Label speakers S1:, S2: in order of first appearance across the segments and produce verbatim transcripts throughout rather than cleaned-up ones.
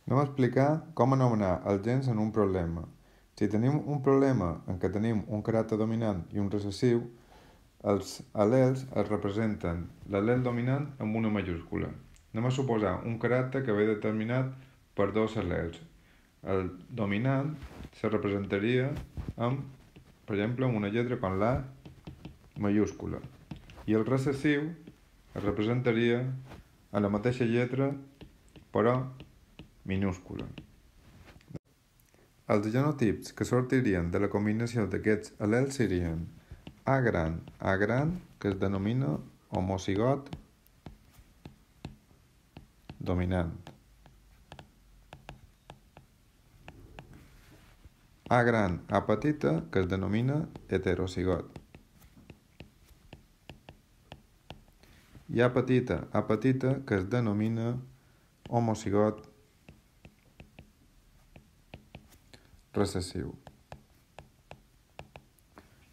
S1: Anem a explicar com anomenar els gens en un problema. Si tenim un problema en què tenim un caràcter dominant i un recessiu, els al·lels es representen l'al·lel dominant amb una majúscula. Anem a suposar un caràcter que ve determinat per dos al·lels. El dominant se representaria amb, per exemple, amb una lletra com la majúscula. I el recessiu es representaria a la mateixa lletra, però minúscula. Els genotips que sortirien de la combinació d'aquests al·lels serien A gran, A gran, que es denomina homocigot dominant. A gran, A petita, que es denomina heterocigot. I A petita, A petita, que es denomina homocigot recessiu.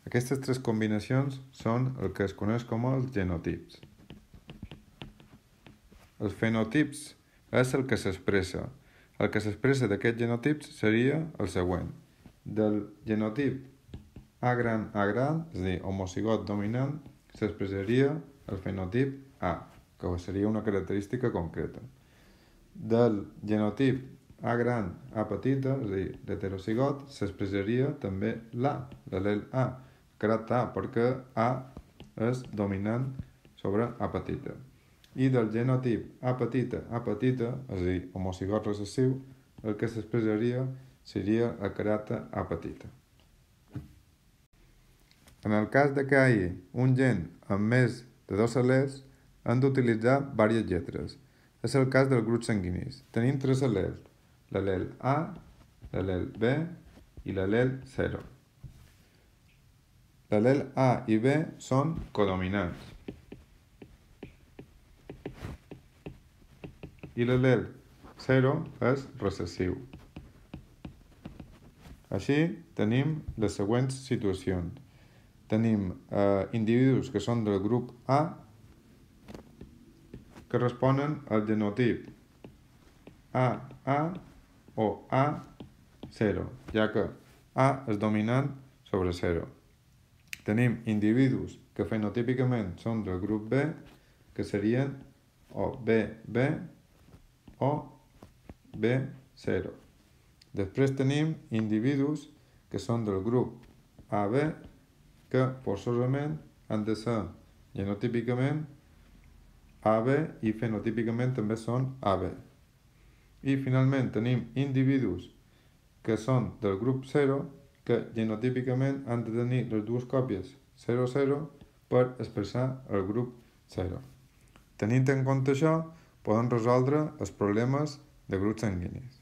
S1: Aquestes tres combinacions són el que es coneix com els genotips. Els fenotips és el que s'expressa. El que s'expressa d'aquests genotips seria el següent. Del genotip A gran, A gran, és a dir, homocigot dominant, s'expressaria el fenotip A, que seria una característica concreta. Del genotip A gran, A petita, és a dir, l'heterocigot, s'expressaria també l'A, l'al·lel A, caràcter A, perquè A és dominant sobre A petita. I del genotip A petita, A petita, és a dir, homocigot recessiu, el que s'expressaria seria el caràcter A petita. En el cas de que hi hagi un gen amb més de dos al·lels, hem d'utilitzar diverses lletres. És el cas dels grups sanguinis. Tenim tres al·lels, l'al·lel A, l'al·lel B i l'al·lel zero. L'al·lel A i B són codominants. I l'al·lel zero és recessiu. Així tenim les següents situacions. Tenim eh, individus que són del grup A que responen al genotip A A o A zero, ja que A és dominant sobre zero. Tenim individus que fenotípicament són del grup B, que serien o B B o B zero. Després tenim individus que són del grup A B, que forçosament han de ser genotípicament A B i fenotípicament també són A B. I finalment tenim individus que són del grup zero, que genotípicament han de tenir les dues còpies zero zero per expressar el grup zero. Tenint en compte això, podem resoldre els problemes de grups sanguinis.